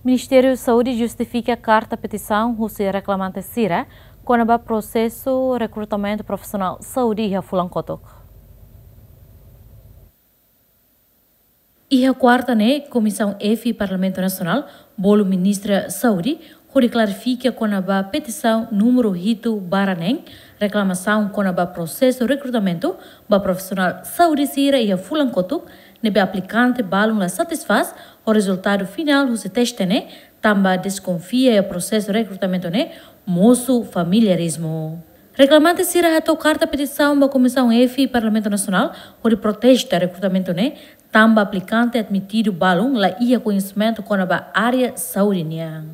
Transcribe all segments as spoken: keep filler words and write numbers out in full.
Ministériu Saúde justifika karta petisaun husi reklamante sira kona-ba prosesu rekrutamentu profisionál saúde iha fulan kotuk. Iha kuarta ne'e, Komisaun F Parlamentu Nasionál bolu Ministra Saúde hodi klarifika kona-ba petisaun númeru hitu barra neen, reklamasaun kona-ba prosesu rekrutamentu ba profisionál saúde sira iha fulan kotuk, ne'ebé aplikante balun la satisfás ho rezultadu finál husi teste ne'e, tanba deskonfia iha prosesu rekrutamentu ne'e mosu familiarizmu. Reklamante sira hato'o karta petisaun ba Komisaun F Parlamentu Nasionál hodi protesta rekrutamentu ne'e, tanba aplikante admitidu balun la iha koñesimentu kona-ba área saúde nian.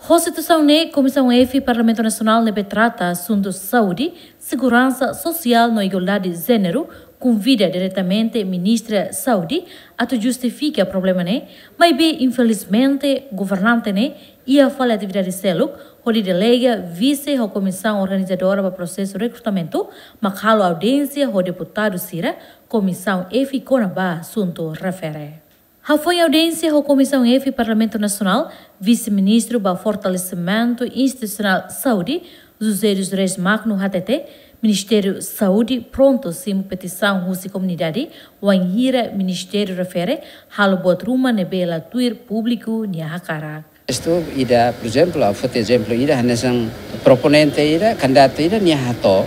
Ho situasaun ne'e, Komisaun F Parlamentu Nasionál ne'ebé trata asuntu saúde, seguransa sosiál no igualdade jéneru konvida diretamente Ministra Saúde atu justifika problema ne'e, maibé infelizmente governante ne'e iha fali atividade seluk hodi delega vise ho komisaun organizadora ba prosesu rekrutamentu mak halo audiénsia ho deputadu sira Komisaun F kona-ba asuntu refere. Hafoin audiénsia ho Komisaun F Parlamentu Nasionál, Vise-Ministru ba Fortalesimentu Institusionál Saúde, José dos Reis Magno, hatete Ministériu Saúde prontu simu petisaun husi komunidade, wainhira ministériu refere halo buat ruma ne'ebé la tuir públiku nia hakarak. Isto ida, por ezemplu, ha'u foti ezemplu ida, hanesan proponente ida, kandidatu ida, nia hato'o,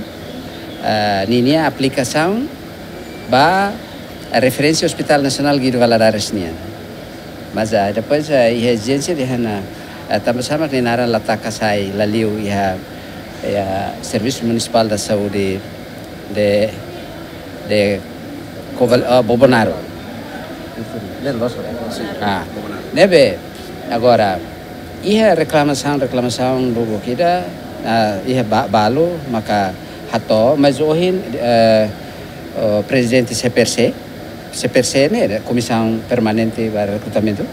eh, ninia aplikasaun ba referénsia Hospital Nasionál Guido Valadares nian. Mas, ah, depois, ah, iha ezijénsia dehan, ah, tanba sá mak nia naran la taka sai, la liu iha, iha Serviço Municipal da Saúde de, de Coval-, ah, Bobonaro. Ah, ne'ebé, agora, iha reklamasaun, reklamasaun lubuk ida, ah, iha ba-, balu, maka hato'o, mas ohin, eh, o prezidente C P R C, C P R C ne'e, Komisaun Permanente ba Rekrutamentu,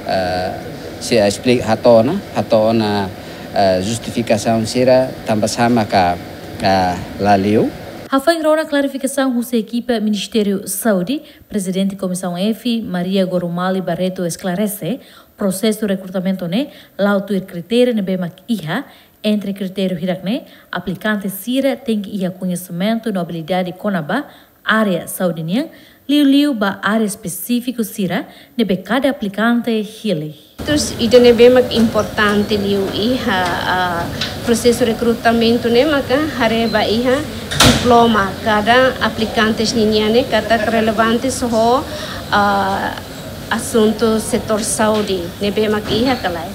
eh, sei esplika, hato'o ona, hato'o ona, eh, justifikasaun sira, tanba sá maka, eh, la liu. Hafoin rona klarifikasaun husi ekipa Ministériu Saúde, Prezidente Komisaun F, Maria Gorumali Barreto, esklarese, prosesu rekrutamentu ne'e la'o tuir kritériu ne'ebé mak iha, entre kritériu hirak ne'e, aplikante sira tenke iha koñesimentu no abilidade kona-ba área saúde nian, liuliu ba área espesífiku sira ne'ebé kada aplikante hili. Terus, ida ne'ebé mak importante liu iha, ah, prosesu rekrutamentu ne'e maka haree ba iha diploma kada aplikantes ninian ne'e katak relevante ho, ah, asuntu setór saúde ne'ebé mak iha ka lae.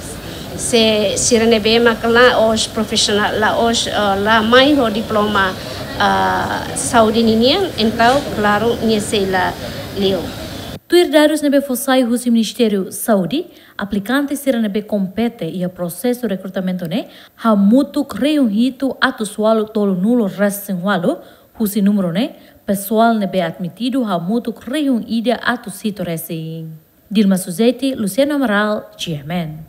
Se sira ne'ebé mak la'ós profisionál, la'ós, eh, la mai ho diploma, eh, saúde ninian, entaun klaru nia sei la liu. Tuir dadus ne'ebé fó sai husi Ministériu Saúde, aplikante sira ne'ebé kompete iha prosesu rekrutamentu ne'e hamutuk rihun hitu atus ualu tolunulu resin ualu, husi númeru ne'e, pesoál ne'ebé admitidu hamutuk rihun ida atus hitu resin. Dilma Suzeti, Luciano Amaral, G M N.